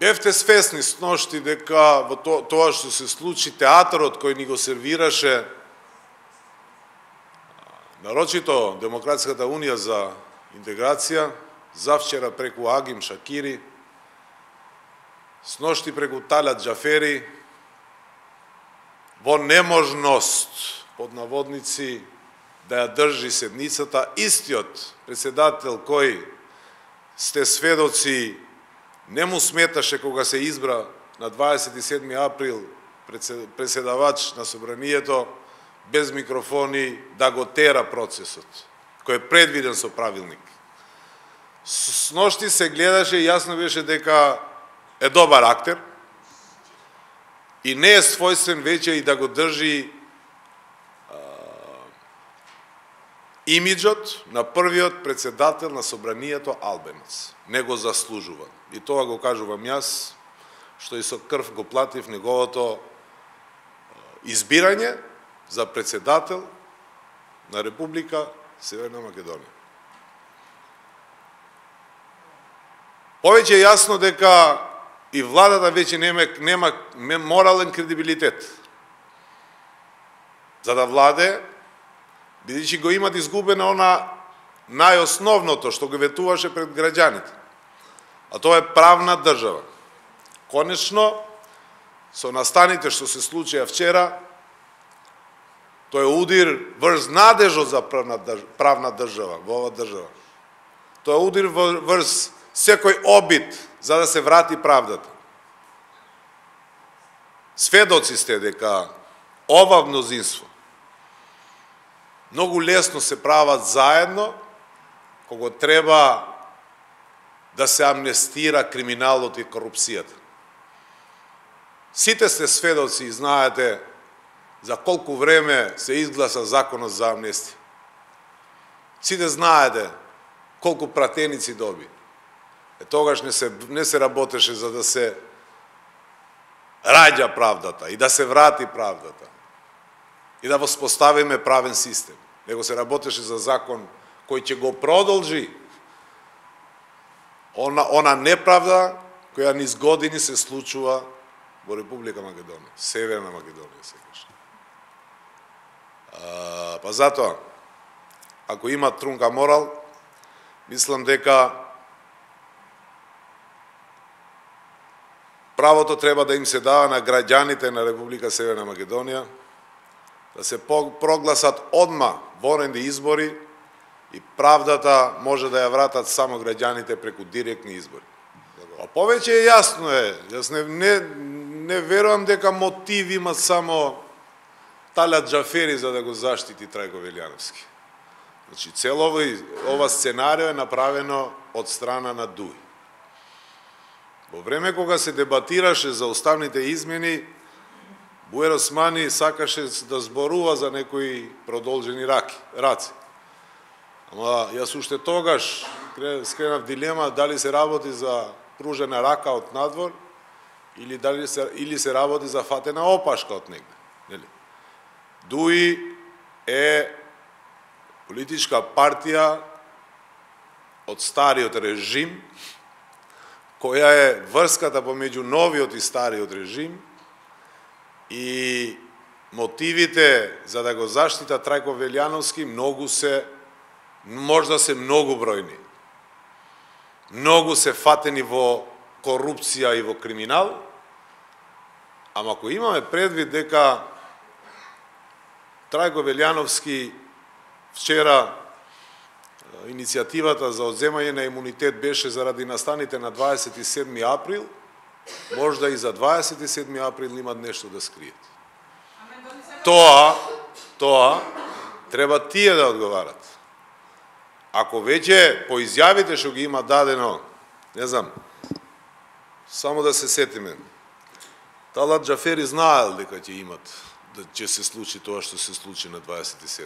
Бевте свесни сношти дека во тоа што се случи, театарот кој ни го сервираше нарочито Демократската унија за интеграција, завчера преку Агим Шакири, сношти преку Талат Џафери, во неможност, под наводници, да ја држи седницата, истиот председател кој сте сведоци не му сметаше кога се избра на 27. април преседавач на собранието без микрофони да го тера процесот, кој е предвиден со правилник. Сношти се гледаше и јасно беше дека е добар актер и не е својствен веќе и да го држи имиджот на првиот председател на собранието албенец. Не го заслужува. И тоа го кажувам јас, што и со крв го платив неговото избирање за председател на Република Северна Македонија. Повеќе е јасно дека и владата веќе нема морален кредибилитет за да владе, бидејќи го имат изгубено она најосновното што го ветуваше пред граѓаните. А тоа е правна држава. Конечно, со настаните што се случија вчера, тоа е удир врз надежот за правна држава во ова држава. Тоа е удир врз секој обид за да се врати правдата. Сведоци сте дека ова мнозинство многу лесно се прават заедно кога треба да се амнестира криминалот и корупцијата. Сите сте сведоци и знаете за колку време се изгласа законот за амнестија. Сите знаете колку пратеници доби. Тогаш не се работеше за да се раѓа правдата и да се врати правдата и да воспоставиме правен систем. Него се работеше за закон кој ќе го продолжи она неправда која низ години се случува во Република Македонија, Северна Македонија се каже. Па затоа, ако има трунка морал, мислам дека правото треба да им се дава на граѓаните на Република Северна Македонија, да се прогласат одма военни избори и правдата може да ја вратат само граѓаните преку директни избори. А повеќе е јасно е, јас не верувам дека мотив има само Талат Џафери за да го заштити Трајко Велјановски. Значи, цело ова сценарио е направено од страна на ДУИ. Во време кога се дебатираше за уставните измени, Буер Османи сакаше да зборува за некои продолжени раци. Ама јас уште тогаш скренав дилема дали се работи за пружена рака од надвор или се работи за фатена опашка од негде. ДУИ е политичка партија од стариот режим, која е врската помеѓу новиот и стариот режим, и мотивите за да го заштита Трајко Велјановски можда се многу бројни. Многу се фатени во корупција и во криминал, ама ако имаме предвид дека Трајко Велјановски вчера иницијативата за одземање на имунитет беше заради настаните на 27. април, можда и за 27. април имат нешто да скриет. Тоа треба тие да одговарат. Ако веќе по изјавите што ги има дадено, не знам, само да се сетиме, Талат Џафери знаел дека ќе се случи тоа што се случи на 27.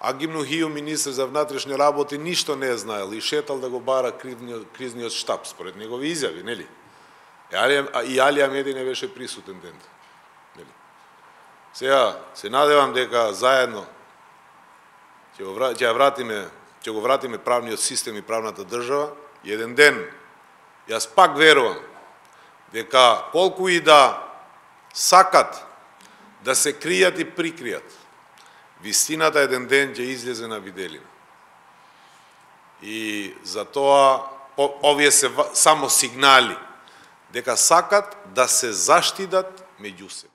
Агим Нухију, министр за внатрешни работи, ништо не е знаел и шетал да го бара кризниот штаб, според негови изјави, нели? И Али Амеди не беше присутен ден. Сега, се надевам дека заедно ќе го вратиме правниот систем и правната држава. И еден ден, јас пак верувам, дека колку и да сакат да се кријат и прикријат, вистината еден ден ќе излезе на виделина. И затоа овие се само сигнали дека сакат да се заштитат меѓу себе.